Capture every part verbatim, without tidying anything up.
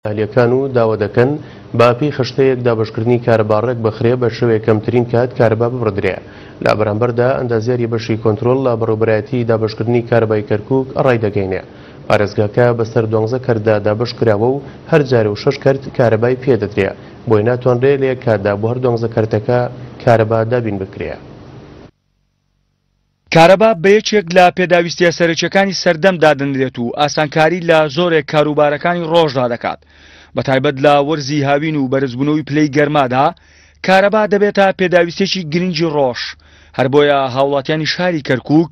ئەهلیەکان و داوا دەکەن بە پێی خشتەیەک دابەشکردنی کارەبا ڕێک بخرێ بە شێوەیەک کەمترین کات کارەبا ببڕدرێ. لە بەرامبەردا ئەندازیاری بەشی کۆنترۆڵ لە بەڕێوەبەرایەتی دابەشکردنی کارەبای کەرکووک ڕایدەگەینێ. پارێزگاکە بەسەر دوانزە کەرتدا دابەش کراوە و هەر جارە و شەش کەرت کارەبای پێدەدرێ، بۆیە ناتوانرێ لە یەک کاتدا بۆ هەر دوانزە کەرتەکە کارەبا دابین بکرێ. کارەبا بە یەکێک لە پێداویستیە سەرەکیەکانی سەردەم دادەنرێت و ئاسانکاری لە زۆرێک کاروبارەکانی ڕۆژدا دەکات. بە تایبەت لە وەرزی هاوین و بەرزبوونەوەی پلەی گەرمادا کارەبا دەبێتە پێداویستێکی گرنگی ڕۆژ. هەر بۆیە هاوڵاتیانی شاری کەرکووک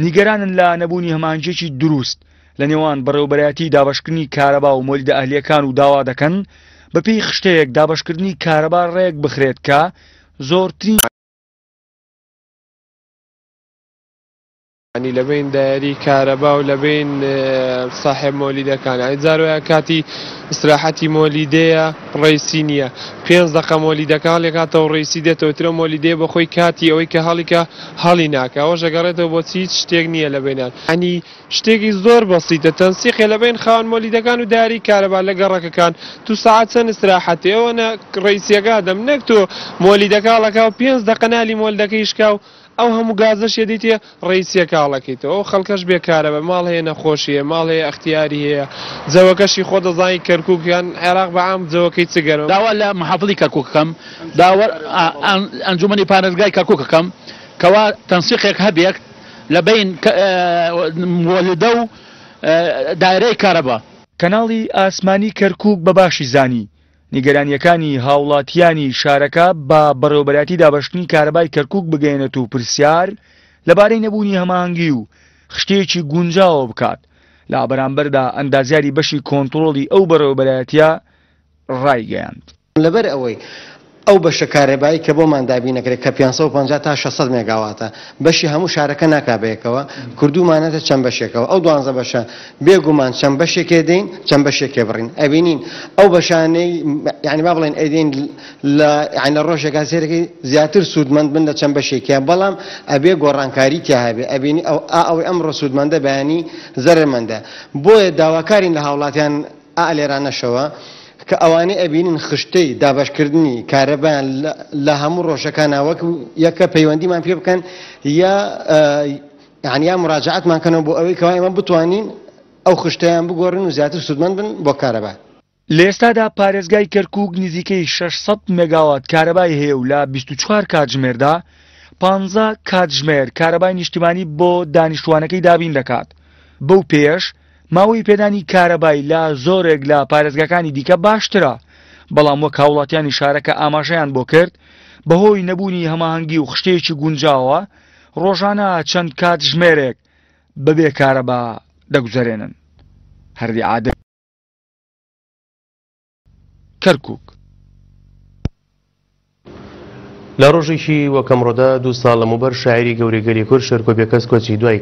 نیگەرانن لە نەبوونی هەماهەنگیەکی دروست لە نێوان بەڕێوەبەرایەتی دابەشکردنی کارەبا و مۆلیدە ئەهلیەکان و داوا دەکەن بەپێی خشتەیەک دابەشکردنی کارەبا ڕێک بخرێت کە زۆرترین ینی لەبین دایری کارەبا و لەبین ساحێب مۆلیدەکان. یعنی جار وایە کاتی ئیسراحەتی مۆلیدەیە ڕێسی نییە، پێنج دەقە مۆلیدەکە هەڵێکاتەوە ڕێسی دێتەوە ترە مۆلیدەیە بە خۆی کاتی ئەوەی کە هەڵیکە هەڵی ناکە، ئەوەش ئەگەڕێتەوە بۆ هیچ شتێک نییە لە بینان. ینی شتێکی زۆر بەسیتە تەنسیقێ لەبین خاوەن مۆلیدەکان و داری کارەبا لە گەڕەکەکان. تو ساعت چەند ئیسراحەتی ئەوەنە ڕێسیەکە دەم، نەک تۆ مۆلیدەکە هەڵەکا و پێنج دەقە نالی مۆلیدەکە شکا و ئەو هەموو گازەش یەدیتێ ڕێسیەکە هەڵەکەیتەوە. ئەو خەڵکەش بێکارە بە ماڵ هەیە، نەخۆشی هەیە، ماڵ هەیە، ئەختیاری هەیە، جەوەکەشی خۆ دەزانی کەرکووک یان عێراق بە عام جەوەکەی چ گەرمە. داوا لە محافظی کەرکووک بکەم، داوا ئەنجومەنی پارێزگای کەرکووک بکەم کەوا تەنسیقێک هەبێت لە بین مۆلیدە و دایرەی کارەبا. کەناڵی ئاسمانی کەرکووک بە باشی زانی نیگەرانیەکانی هاوڵاتیانی شارەکە بە بەڕێوەبەرایەتی دابەشکردنی کارەبای کەرکووک بگەیەنێت و پرسیار لەبارەی نەبوونی هەماهەنگی و خشتەیەکی گونجاوە بکات. لە بەرامبەردا ئەندازیاری بەشی کۆنترۆڵی ئەو بەڕێوەبەرایەتیە ڕایگەیاند. لەبەر ئەوەی ئەو بەشە کارەبایی کە بۆمان دابین نەکرێت کە پێنج سەد و پەنجا تا شەش سەد مێگاواتە، بەشی هەموو شارەکە ناکا بەیەکەوە، کردومانەتە چەند بەشێکەوە. ئەو دوانزە بەشە بێگومان چەند بەشێکێ دەین، چەند بەشێکێ بڕین. ئەبینین ئەو بەشانەی یعنی با بڵێن ئەیدەین لە یعنی لە ڕۆژێکا سێرەکەی زیاتر سوودمەند بن لە چەند بەشێکیان، بەڵام ئەبێ گۆڕانکاری تیا هەبێ. ئەبینی ئەو ئەوەی ئەمڕۆ سوودمەندە بەیانی زەرەرمەندە. بۆیە داواکارین لە هاوڵاتیان ئا لێرانەشەوە کە ئەوانەی ئەبینین خشتەی دابەشکردنی کارەبایان لە هەموو ڕۆژەکانە وەک یەکە پەیوەندیمان پێ بکەن یا یعنی یا مراجعەتمان کەنەوە بۆ ئەوەی کەوا ئێمە بتوانین ئەو خشتەیان بگۆڕن و زیاتر سوودمەند بن بۆ کارەبا. لە ئێستادا پارێزگای کەرکووک نزیکەی شەش سەد مێگاوات کارەبای هەیە و لە بیست و چوار کاتژمێردا پانزە کاتژمێر کارەبای نیشتیمانی بۆ دانیشتوانەکەی دابین دەکات. بەو پێش ماوەی پێدانی کارەبای لە زۆرێک لە پارێزگاکانی دیکە باشترە، بەڵام وەک هاوڵاتیانی شارەکە ئاماژەیان بۆ کرد بەهۆی نەبوونی هەماهەنگی و خشتەیەکی گونجاوە ڕۆژانە چەند کاتژمێرێک بەبێ کارەبا دەگوزەرێنن. هەردی عادل، کەرکووک. لە ڕۆژێکی وەک ئەمڕۆدا دوو ساڵ لەمەوبەر شاعیری گەورەی گەلی کورد شێرکۆ بێکەس کۆچی دوای